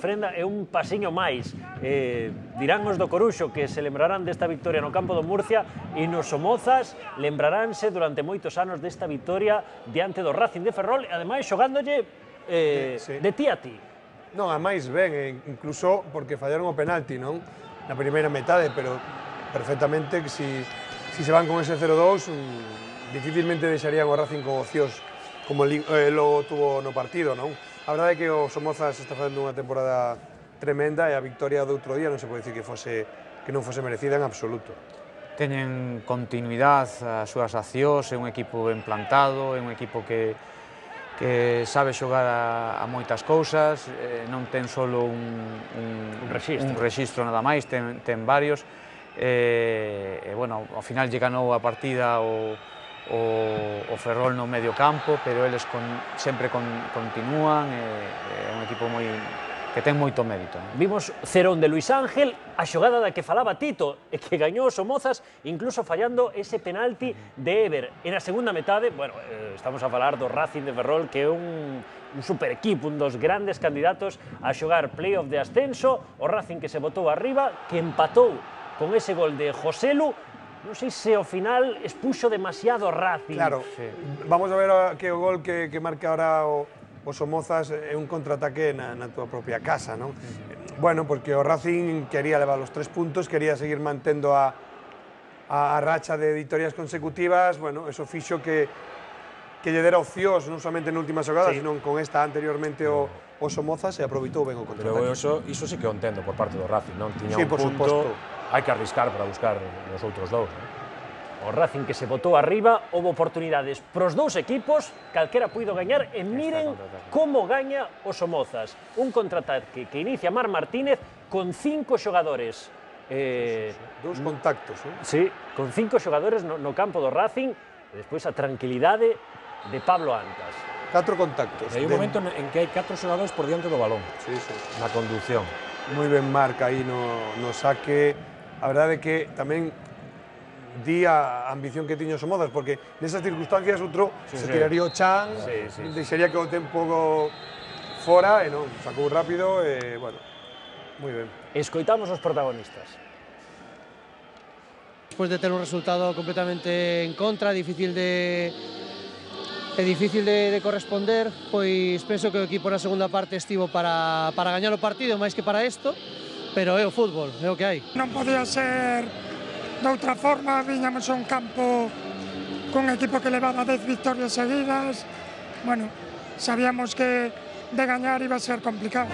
Frenda é un pasiño máis. Dirán os do Coruxo que se lembrarán desta victoria no campo do Murcia e nos Somozas lembraránse durante moitos anos desta victoria diante do Racing de Ferrol e ademais xogándolle de ti a ti. Non, a máis ben, incluso porque fallaron o penalti, non? Na primeira metade, pero perfectamente que si se van con ese 0-2 dificilmente deixarían o Racing con opcións como logo tuvo no partido, non? A verdade é que o Somozas está facendo unha temporada tremenda e a victoria do outro día non se pode dicir que non fose merecida en absoluto. Teñen continuidade as súas accións, é un equipo ben plantado, é un equipo que sabe xogar a moitas cousas, non ten solo un rexistro nada máis, ten varios, e, bueno, ao final lle ganou a partida o Ferrol no medio campo, pero eles sempre continúan, é un equipo que ten moito mérito. Vimos cerón de Luis Ángel, a xogada da que falaba Tito, e que gañou os Somozas, incluso fallando ese penalti de Ever. E na segunda metade, bueno, estamos a falar do Racing de Ferrol, que é un super equipo, un dos grandes candidatos a xogar playoff de ascenso, o Racing que se botou arriba, que empatou con ese gol de Joselu. Non sei se ao final expuxo demasiado Racing. Claro, vamos a ver que o gol que marca ahora o Somozas é un contraataque na túa propia casa, non? Bueno, porque o Racing quería levar os 3 puntos, quería seguir mantendo a racha de victorias consecutivas, bueno, eso fixo que lle dera opcións, non somente na última xogada, sino con esta anteriormente o Somozas e aproveitou ben o contraataque. Pero iso sí que o entendo por parte do Racing, non? Tiña un punto, hai que arriscar para buscar os outros dous, non? O Racing que se botou arriba, houve oportunidades pros dous equipos, calquera puido gañar, e miren como gaña o Somozas. Un contraataque que inicia Marc Martínez con 5 xogadores. Dous contactos, non? Sí, con 5 xogadores no campo do Racing, e despois a tranquilidade de Pablo Antas. 4 contactos. Hai un momento en que hai 4 xogadores por diante do balón, na conducción. Moi ben marca aí no saque. A verdade é que tamén di a ambición que tiño Somozas, porque nesas circunstancias outro se tiraría o chan, deixaría que o tempo fora, e non, sacou rápido, e, bueno, moi ben. Escoitamos os protagonistas. Despois de ter un resultado completamente en contra, difícil de corresponder, pois penso que o equipo na segunda parte estivo para gañar o partido, máis que para isto, pero é o fútbol, é o que hai. Non podía ser de outra forma, viñamos a un campo con un equipo que levaba 10 victorias seguidas. Bueno, sabíamos que de gañar iba a ser complicado.